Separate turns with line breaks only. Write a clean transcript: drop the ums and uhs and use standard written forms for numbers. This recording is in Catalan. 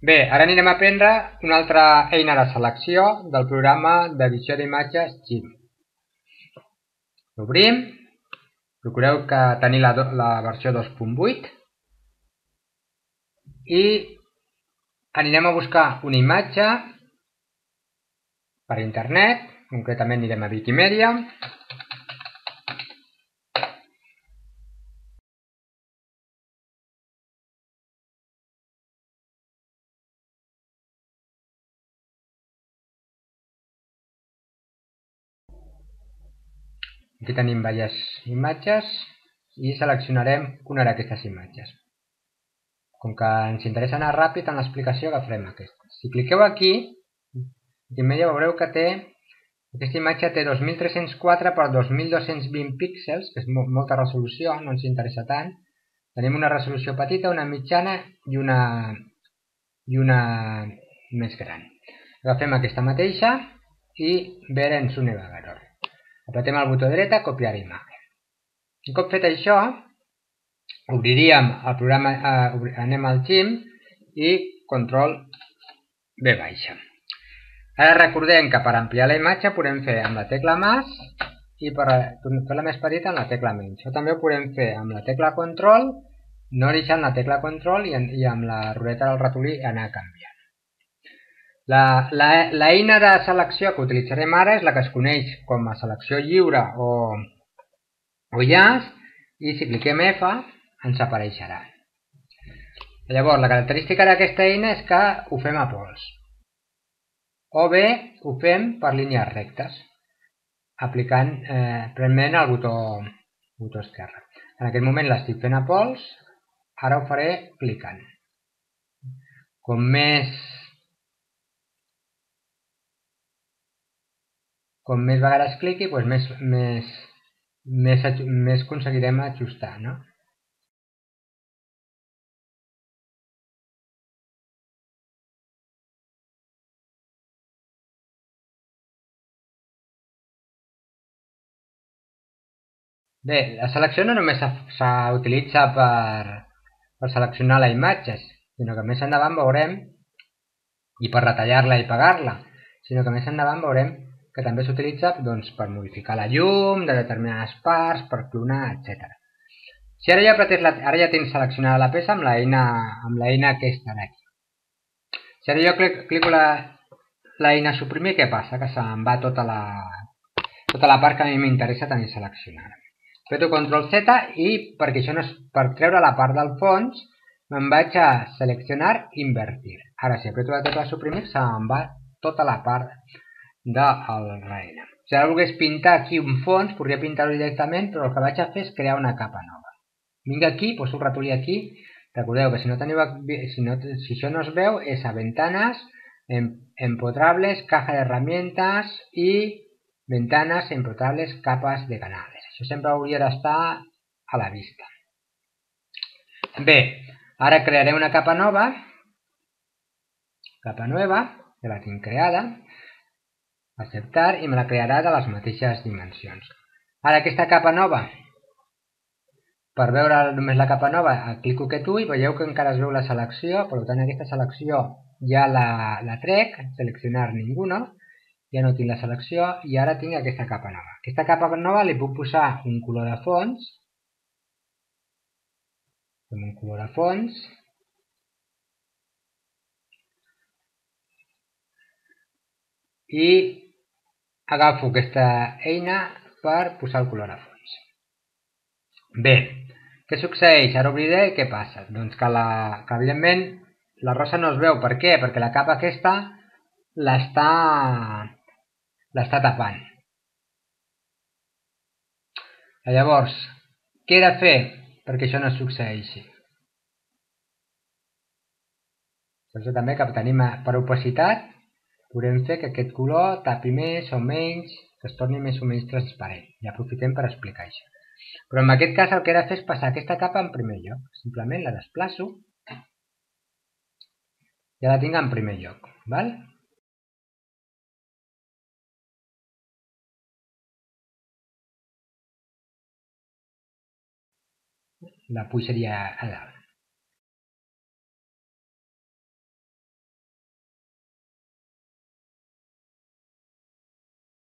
Bé, ara anirem a aprendre una altra eina de selecció del programa d'edició d'imatges GIMP. L'obrim, procureu que tenir la versió 2.8 i anirem a buscar una imatge per internet, concretament anirem a Wikimedia. Aquí tenim diverses imatges i seleccionarem una d'aquestes imatges. Com que ens interessa anar ràpid en l'explicació, agafarem aquesta. Si cliqueu aquí, Wikimedia veureu que aquesta imatge té 2304 per 2220 píxels, que és molta resolució, no ens interessa tant. Tenim una resolució petita, una mitjana i una més gran. Agafem aquesta mateixa i ver en su navegador. Apretem el botó dret, copiar imatge. Un cop fet això, obriríem el programa, anem al GIMP i control V baixa. Ara recordem que per ampliar la imatge podem fer amb la tecla més i per fer-la més petita amb la tecla menys. Això també ho podem fer amb la tecla control, no deixant la tecla control i amb la ruleta del ratolí anar canviant. L'eina de selecció que utilitzarem ara és la que es coneix com a selecció lliure o llaç, i si cliquem F ens apareixerà. Llavors, la característica d'aquesta eina és que ho fem a pols, o bé ho fem per línies rectes, aplicant prement el botó esquerre. En aquest moment l'estic fent a pols, ara ho faré clicant. Com més vegades cliqui, doncs més aconseguirem ajustar, no? Bé, la selecció no només s'utilitza per seleccionar la imatge, sinó que més endavant veurem, i per retallar-la i pegar-la, sinó que més endavant veurem que també s'utilitza per modificar la llum de determinades parts, per clonar, etc. Si ara ja tens seleccionada la peça amb l'eina aquesta d'aquí. Si ara jo clico l'eina suprimir, què passa? Que se'm va tota la part que a mi m'interessa tenir seleccionada. Apreto Ctrl Z i perquè això no és per treure la part del fons, me'n vaig a seleccionar invertir. Ara si apreto la tecla suprimir se'm va tota la part del darrere. Si ara volgués pintar aquí un fons, podria pintar-ho directament, però el que vaig a fer és crear una capa nova. Vinc aquí, poso el ratolí aquí. Recordeu que si això no es veu, és a ventanas, empotrables, caja de herramientas i ventanas, empotrables, capas de canales. Això sempre hauria d'estar a la vista. Bé, ara crearé una capa nova, que la tinc creada, acceptar, i me la crearà de les mateixes dimensions. Ara aquesta capa nova, per veure només la capa nova, clico aquest ull i veieu que encara es veu la selecció, per tant aquesta selecció ja la trec, seleccionar ninguna, ja no tinc la selecció i ara tinc aquesta capa nova. Aquesta capa nova li puc posar un color de fons, i agafo aquesta eina per posar el color a fons. Bé, què succeeix? Ara obriré i què passa? Doncs que evidentment la rosa no es veu. Per què? Perquè la capa aquesta l'està tapant. Llavors, què he de fer perquè això no succeeixi? Això també que tenim per opacitat, podem fer que aquest color tapi més o menys, que es torni més o menys transparent. I aprofitem per explicar això. Però en aquest cas el que he de fer és passar aquesta capa en primer lloc. Simplement la desplaço. Ja la tinc en primer lloc. Val? La pujaria a dalt.